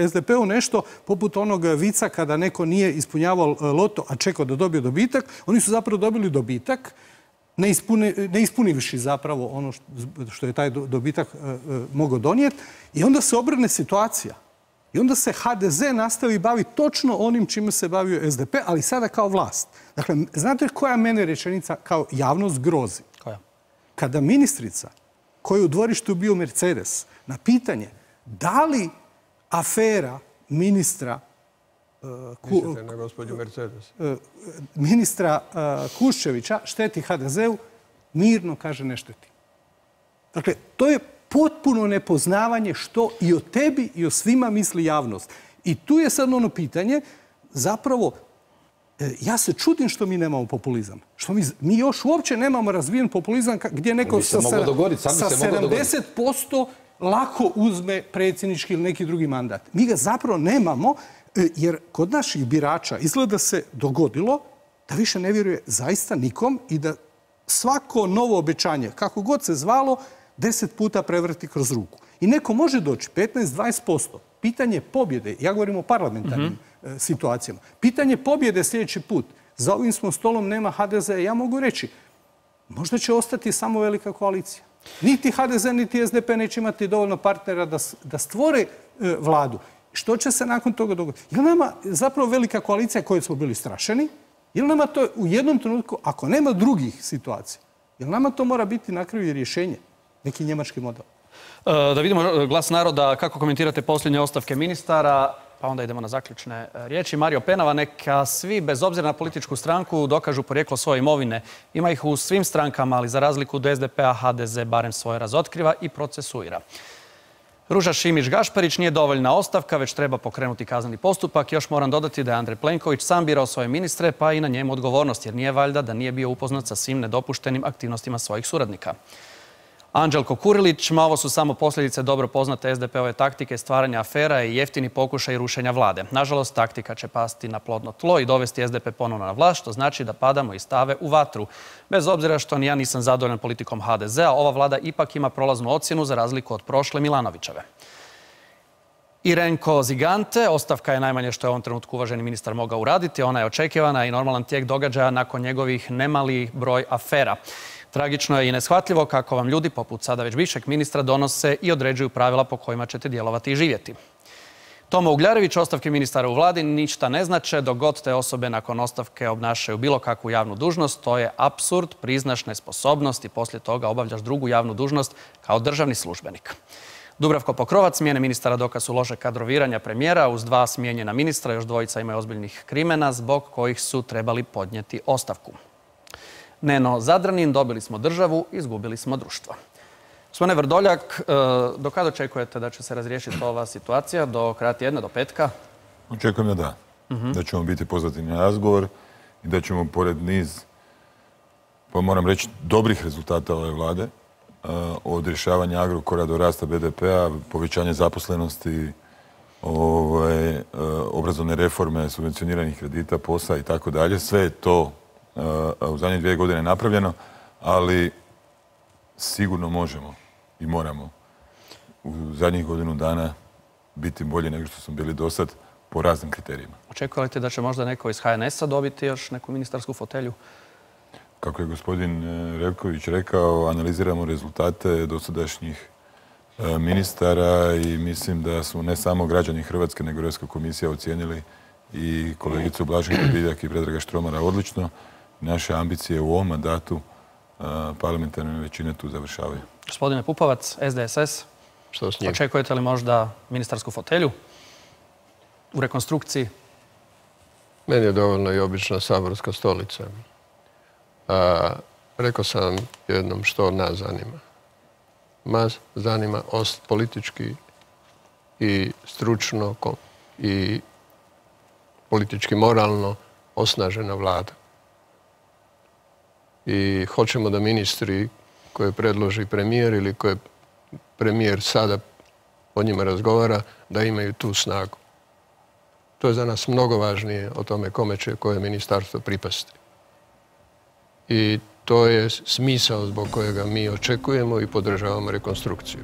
S D P-u nešto poput onog vica kada neko nije ispunjavao loto, a čekao da dobije dobitak. Oni su zapravo dobili dobitak, ne, ispuni, ne ispunivši zapravo ono što, što je taj dobitak mogao donijeti. I onda se obrne situacija. I onda se H D Z nastavi baviti točno onim čime se bavio S D P, ali sada kao vlast. Dakle, znate koja mene rečenica kao javnost grozi? Koja? Kada ministrica koji je u dvorištu bio Mercedes, na pitanje da li afera ministra Mislite na gospođu Mercedes? ministra Kuščevića šteti ha de zeu, mirno kaže ne šteti. Dakle, to je potpuno nepoznavanje što i o tebi i o svima misli javnost. I tu je sad ono pitanje, zapravo, ja se čudim što mi nemamo populizam. Što mi, mi još uopće nemamo razvijen populizam gdje neko sa, sa sedamdeset posto lako uzme predsjednički ili neki drugi mandat. Mi ga zapravo nemamo, jer kod naših birača izgleda se dogodilo da više ne vjeruje zaista nikom i da svako novo obećanje, kako god se zvalo, deset puta prevrti kroz ruku. I neko može doći petnaest do dvadeset posto. Pitanje pobjede, ja govorim o parlamentarnim mm-hmm. situacijama, pitanje pobjede sljedeći put, za ovim smo stolom nema ha de ze, ja mogu reći, možda će ostati samo velika koalicija. Niti ha de ze, niti es de pe neće imati dovoljno partnera da, da stvore e, vladu. Što će se nakon toga dogoditi? Je li nama zapravo velika koalicija koju smo bili strašeni? Je li nama to u jednom trenutku, ako nema drugih situacija, je li nama to mora biti na kraju rješenje? Neki njemački model. Da vidimo glas naroda, kako komentirate posljednje ostavke ministara, pa onda idemo na zaključne riječi. Mario Penava, neka svi, bez obzira na političku stranku, dokažu porijeklo svoje imovine. Ima ih u svim strankama, ali za razliku od es de pe-a, ha de ze barem svoje razotkriva i procesuira. Ruža Šimić-Gašparić, nije dovoljna ostavka, već treba pokrenuti kazneni postupak. Još moram dodati da je Andrej Plenković sam birao svoje ministre, pa i na njemu odgovornost, jer nije valjda da nije bio upoznat sa svim nedopuštenim aktivnostima svojih suradnika. Anđelko Kurilić, ma ovo su samo posljedice dobro poznate es de pe-ove taktike stvaranja afera i jeftini pokušaj rušenja vlade. Nažalost, taktika će pasti na plodno tlo i dovesti es de pe ponovno na vlast, što znači da padamo iz stave u vatru. Bez obzira što ni ja nisam zadovoljan politikom ha de ze-a, ova vlada ipak ima prolaznu ocjenu za razliku od prošle Milanovićeve. Irenko Zigante, ostavka je najmanje što je u ovom trenutku uvaženi ministar mogao uraditi. Ona je očekivana i normalan tijek događaja nakon njegovih nemali broj afera. Tragično je i neshvatljivo kako vam ljudi, poput sada već bivšeg ministra, donose i određuju pravila po kojima ćete djelovati i živjeti. Toma Ugljarević, ostavke ministara u vladi ništa ne znače dok god te osobe nakon ostavke obnašaju bilo kakvu javnu dužnost. To je apsurd, priznaš nesposobnost i poslije toga obavljaš drugu javnu dužnost kao državni službenik. Dubravko Pokrovac, smjene ministara dokaz su lošeg kadroviranja premijera. Uz dva smijenjena ministra još dvojica imaju ozbiljnih krimena zbog kojih su trebali podnijeti ostavku. Neno Zadranin, dobili smo državu, izgubili smo društvo. Gospodine Vrdoljak, do kada očekujete da će se razriješiti ova situacija? Do kraja tjedna, do petka? Očekujem da da. Uh-huh. Da ćemo biti pozvati na razgovor i da ćemo pored niz, pa moram reći, dobrih rezultata ove vlade, od rješavanja Agrokora do rasta be de pe-a, povećanje zaposlenosti, ovaj, obrazovne reforme, subvencioniranih kredita, posla i tako dalje. Sve je to u zadnje dvije godine napravljeno, ali sigurno možemo i moramo u zadnjih godinu dana biti bolji nego što smo bili do sad po raznim kriterijima. Očekujete da će možda neko iz ha en es-a dobiti još neku ministarsku fotelju? Kako je gospodin Revković rekao, analiziramo rezultate dosadašnjih ministara i mislim da su ne samo građani Hrvatske, nego Europska komisija ocijenili i kolegicu Blaženku Divjak i Predraga Štromara odlično. Naše ambicije u ovom mandatu parlamentarne većine tu završavaju. Gospodine Pupovac, es de es es, što s njim? Očekujete li možda ministarsku fotelju u rekonstrukciji? Meni je dovoljno i obična saborska stolica. A, rekao sam jednom što nas zanima. Nas zanima ost politički i stručno i politički moralno osnažena vlada. I hoćemo da ministri koje predloži premijer ili koje premijer sada o njima razgovara, da imaju tu snagu. To je za nas mnogo važnije o tome kome će koje ministarstvo pripasti. I to je smisao zbog kojega mi očekujemo i podržavamo rekonstrukciju.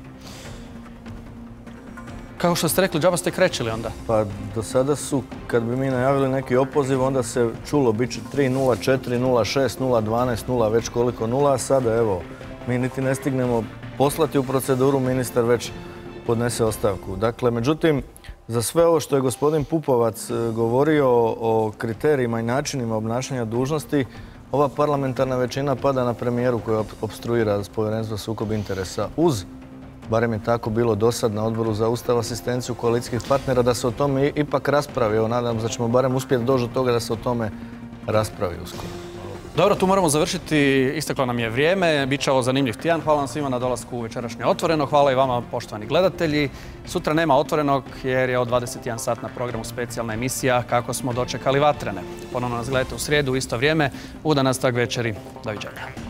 Kao što ste rekli, džaba ste krećili onda? Pa do sada su, kad bi mi najavili neki opoziv, onda se čulo bit će tri nula četiri nula šest nula dvanaest nula već koliko nula, a sada evo, mi niti ne stignemo poslati u proceduru, ministar već podnese ostavku. Dakle, međutim, za sve ovo što je gospodin Pupovac govorio o kriterijima i načinima obnašanja dužnosti, ova parlamentarna većina pada na premijeru koja opstruira povjerenstvo za sukob interesa uz, barem je tako bilo dosad na odboru za ustav, asistenciju koalicijskih partnera, da se o tome ipak raspravi. Evo, nadam se da ćemo barem uspjeti doći do toga da se o tome raspravi uskoro. Dobro, tu moramo završiti. Isteklo nam je vrijeme. Biće ovo zanimljiv tjedan. Hvala vam svima na dolasku u večerašnje Otvoreno. Hvala i vama, poštovani gledatelji. Sutra nema Otvorenog jer je od dvadeset jedan sat na programu specijalna emisija Kako smo dočekali vatrene. Ponovno nas gledajte u srijedu u isto vrijeme. Ugodan nastavak večeri. Doviđenja.